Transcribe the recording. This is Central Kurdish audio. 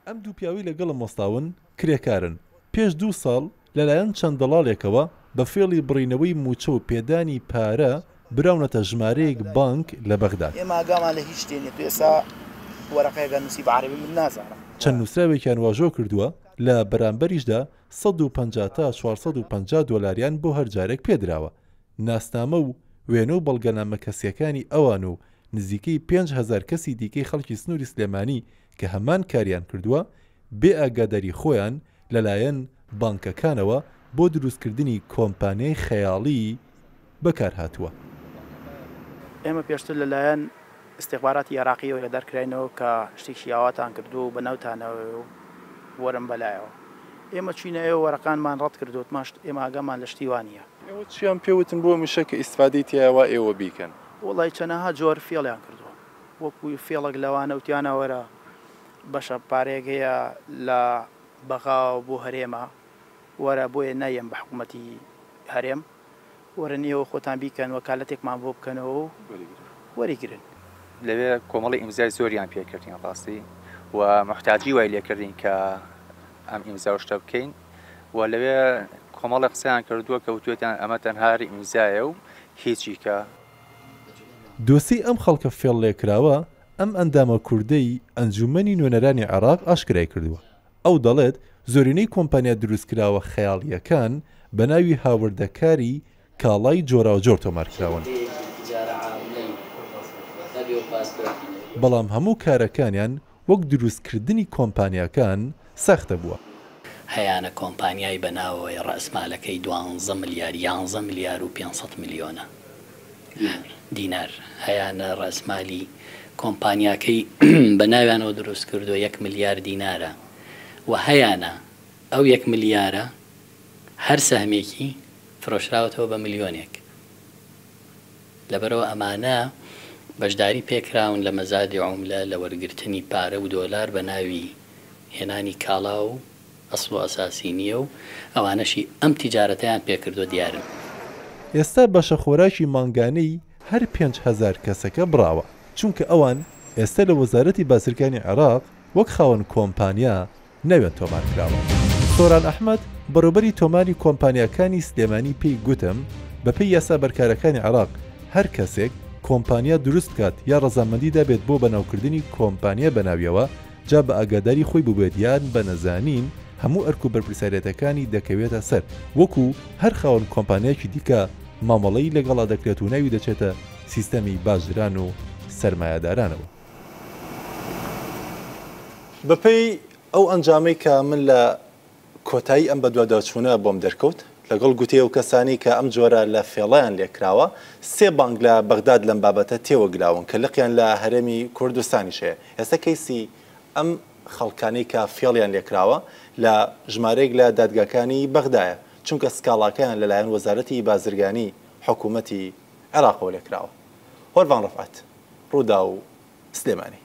ئەم دوو پیاوەی لەگەڵم وەستاون کرێکارن، پێش دوو ساڵ لەلایەن چەند دەڵاڵێکەوە بە فێڵی بڕینەوەی مووچە و پێدانی پارە براونەتە ژمارەیەک بانک لە بەغداد. ئێمە ئاگامان لە هیچ شتێ نیە، تۆ ئێستا وەرەقەیەک ئەنووسی بە عەرەبی من نازانم. چەند نووسراوێکیان واژۆ کردووە، لە بەرامبەریشدا 150 تا 450 دۆلاریان بۆ هەر جارێک پێدراوە. ناسنامە و وێنە و بەڵگەنامە کەسییەکانی ئەوان و نزیکەی 5000 کەسی دیکەی خەڵکی سنووری سلێمانی کە هەمان کاریان کردووە، بێ ئاگاداری خۆیان لەلایەن بانکەکانەوە بۆ دروستکردنی کۆمپانیای خەیاڵی بەکارهاتووە. ئێمە پێشتر لەلایەن ئیستیخباراتی عێراقییەوە ئاگادار کراینەوە کە شتێکی ئاواتان کردووە و بەناوتانەوەیە و وەرن بەلایەوە. ئێمە چووینە ئێوە وەرەقانمان ڕەت کردەوە وتمان ئێمە ئاگامان لە شتی وا نییە. ئێوە چیان پێ وتن بۆ ئەمیشە کە ئیستفادەی تیایە وا ئێوە بیکەن؟ وەڵای چەنەها جۆر فێڵیان کردووە. وەکو فێڵێک لەوانە وتیانە وەرە بەشە پارەیەک هەیە لە بەغاوە بۆ هەرێمە وەرە بۆیە نایەن بە حکومەتی هەرێم وەرن ئێوە خۆتان بیکەن وەکالەتێکمان بۆ بکەنەوە و وەریگرن. لەوێ کۆمەڵی ئیمزای زۆریان پێ کردین ڕاستی و موحتاجی وای لێ کردین کە ئەم ئیمزا و شتە بکەین و لەوێ کۆمەڵی قسەیان کردووە کە وتوێتیان ئەمە تەنها هەر ئیمزایە و هیچی کە. دۆسێی ئەم خەڵکە فێڵلێکراوە ئەم ئەندامە کوردەی ئەنجوومەنی نوێنەرانی عێراق ئاشکرای کردووە. ئەو دەڵێت، زۆرینەی کۆمپانیا دروستکراوە خەیاڵییەکان بە ناوی هاوردەکاری کاڵای جۆراوجۆر تۆمارکراون، بەڵام هەموو کارەکانیان وەک دروستکردنی کۆمپانیاکان ساختە بووە. هەیانە کۆمپانیای بە ناوەوەی ڕەئسمالەکەی دوانزە ملیار، یانزە ملیار و پێنسەد ملیۆنە دینار، هەیانە ڕەئسمالی کۆمپانیاکەی بە ناویانەوە دروست کردووە یەک ملیار دینارە و هەیانە ئەو یەک ملیارە هەر سەهمێکی فرۆشراوەتەوە بە ملیۆنێک. لەبەرئەوە ئەمانە بەشداری پێکراون لە مەزادی عوملە لە وەرگرتنی پارە و دۆلار بە ناوی هێنانی کاڵا و ئەسڵ و ئەساسی نییە و ئەوانەشی ئەم تیجارەتەیان پێکردووە دیارن. ئێستا بەشە خۆراکی مانگانەی هەر 5000 کەسەکە بڕاوە، چونکە ئەوان ئێستا لە وەزارەتی بازرگانی عێراق وەک خاوەن کۆمپانیا ناویان تۆمارکراوە. سۆران ئەحمەد، بەڕێوبەری تۆماری کۆمپانیاکانی سلێمانی پێی گوتم، بەپێی یاسا بەرکارەکانی عێراق، هەر کەسێک کۆمپانیا دروست بکات یا ڕەزامەندی دابێت بۆ بەناوکردنی کۆمپانیا بەناویەوە، جا بە ئاگاداری خۆی بووبێت یان بە نەزانین، هەموو ئەرک و بەرپرسیارێتەکانی دەکەوێتە سەر، وەکو هەر خاوەن کۆمپانیایەکی دیکە مامەڵەی لەگەڵا دەکرێت و ناوی دەچێتە سیستەمی باجدران و سەرمایەدارانەوە. بەپێی ئەو ئەنجامەی کە من لە کۆتایی ئەم بەدواداچوونە بۆم دەرکەوت، لەگەڵ گوتەی ئەو کەسانەی کە ئەم جۆرە لە فێڵەیان لێکراوە، سێ بانک لە بەغداد لەم بابەتە تێوەگلاون کە لقیان لە هەرێمی کوردستانیش هەیە. ئێستا کەیسی ئەم خەڵکانەی کە فێڵیان لێکراوە لە ژمارەیەک لە دادگاکانی بەغدایە، چونکە سکاڵاکەیان لەلایەن وەزارەتی بازرگانی حکوومەتی عێراقەوە لێکراوە. هۆرڤان ڕەفعەت، ڕووداو، سلێمانی.